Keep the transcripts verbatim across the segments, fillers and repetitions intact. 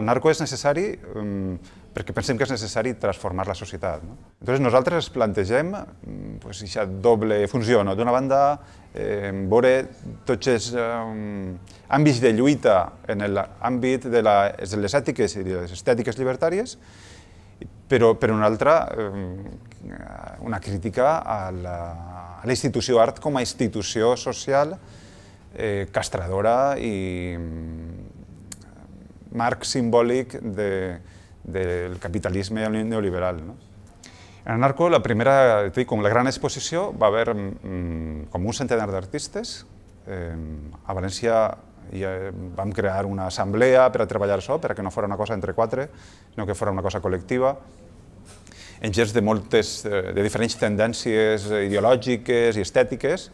El narco és necessari um, perquè pensem que és necessari transformar la societat. No? Entonces nosaltres plantegem pues, aquesta doble funció. No? D'una banda, eh, veure tots els um, àmbits de lluita en l'àmbit de, la, de les ètiques i de les estètiques llibertàries, però per una altra, eh, una crítica a la, a la institució art com a institució social eh, castradora i marc simbòlic de, del capitalisme neoliberal. No? En el narco, la primera, com la gran exposició, va haver mm, com un centenar d'artistes. Eh, a València ja vam crear una assemblea per a treballar això, perquè no fos una cosa entre quatre, sinó que fos una cosa col·lectiva, en gens de moltes, de diferents tendències ideològiques i estètiques,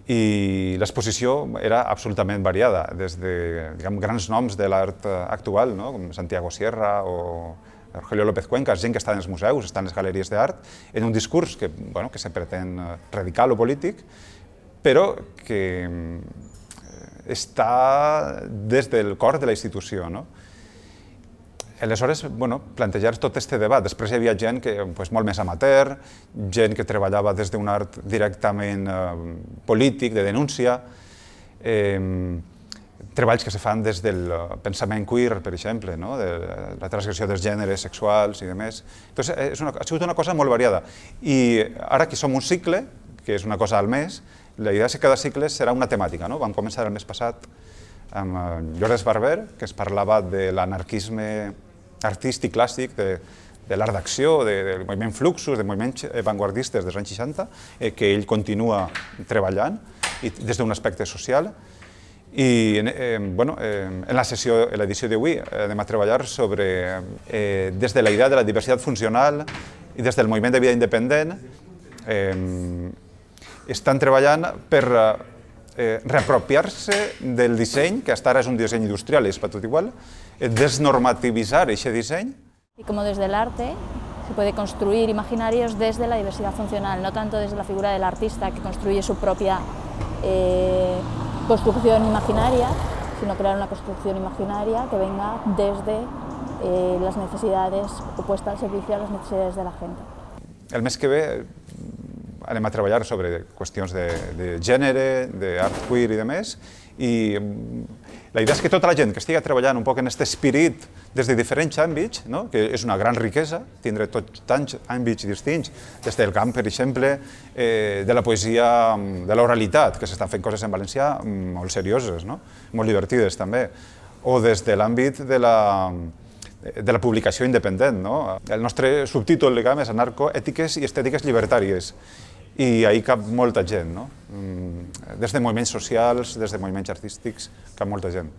i l'exposició era absolutament variada, des de diguem, grans noms de l'art actual, no? Com Santiago Sierra o Rogelio López Cuenca, gent que està en els museus, està en les galeries d'art, en un discurs que, bueno, que se pretén radical o polític, però que està des del cor de la institució. No? Aleshores, bueno, plantejar tot aquest debat. Després hi havia gent que, pues, molt més amateur, gent que treballava des d'un art directament eh, polític, de denúncia, eh, treballs que se fan des del pensament queer, per exemple, no? De la transgressió dels gèneres sexuals i demés. Entonces, és una, ha sigut una cosa molt variada. I ara que som un cicle, que és una cosa al mes, la idea és que cada cicle serà una temàtica. No? Vam començar el mes passat amb Llorenç Barber, que es parlava de l'anarquisme artístic clàssic, de, de l'art d'acció, de, del moviment Fluxus, de moviments avantguardistes dels anys seixanta, eh, que ell continua treballant i, des d'un aspecte social. I eh, bueno, eh, en la sessió, en l'edició d'avui, eh, anem a treballar sobre, eh, des de la idea de la diversitat funcional i des del moviment de vida independent, eh, estan treballant per eh, reapropiar-se del disseny, que hasta ara és un disseny industrial i és per tot igual, desnormativizar ese diseño. Y como desde el arte se puede construir imaginarios desde la diversidad funcional, no tanto desde la figura del artista que construye su propia eh, construcción imaginaria, sino crear una construcción imaginaria que venga desde eh, las necesidades o puesta al servicio de las necesidades de la gente. El mes que ve anem a treballar sobre qüestions de, de gènere, d'art queer i de més, i la idea és que tota la gent que estigui treballant un poc en aquest esperit des de diferents àmbits, no? Que és una gran riquesa, tindre tots tants àmbits distints, des del camp, per exemple, eh, de la poesia, de l'oralitat, que s'estan fent coses en valencià molt serioses, no? Molt divertides també, o des de l'àmbit de la de la publicació independent. No? El nostre subtítol diguem, és Narco, ètiques i estètiques llibertàries. I ahir cap molta gent, no? Des de moviments socials, des de moviments artístics, cap molta gent.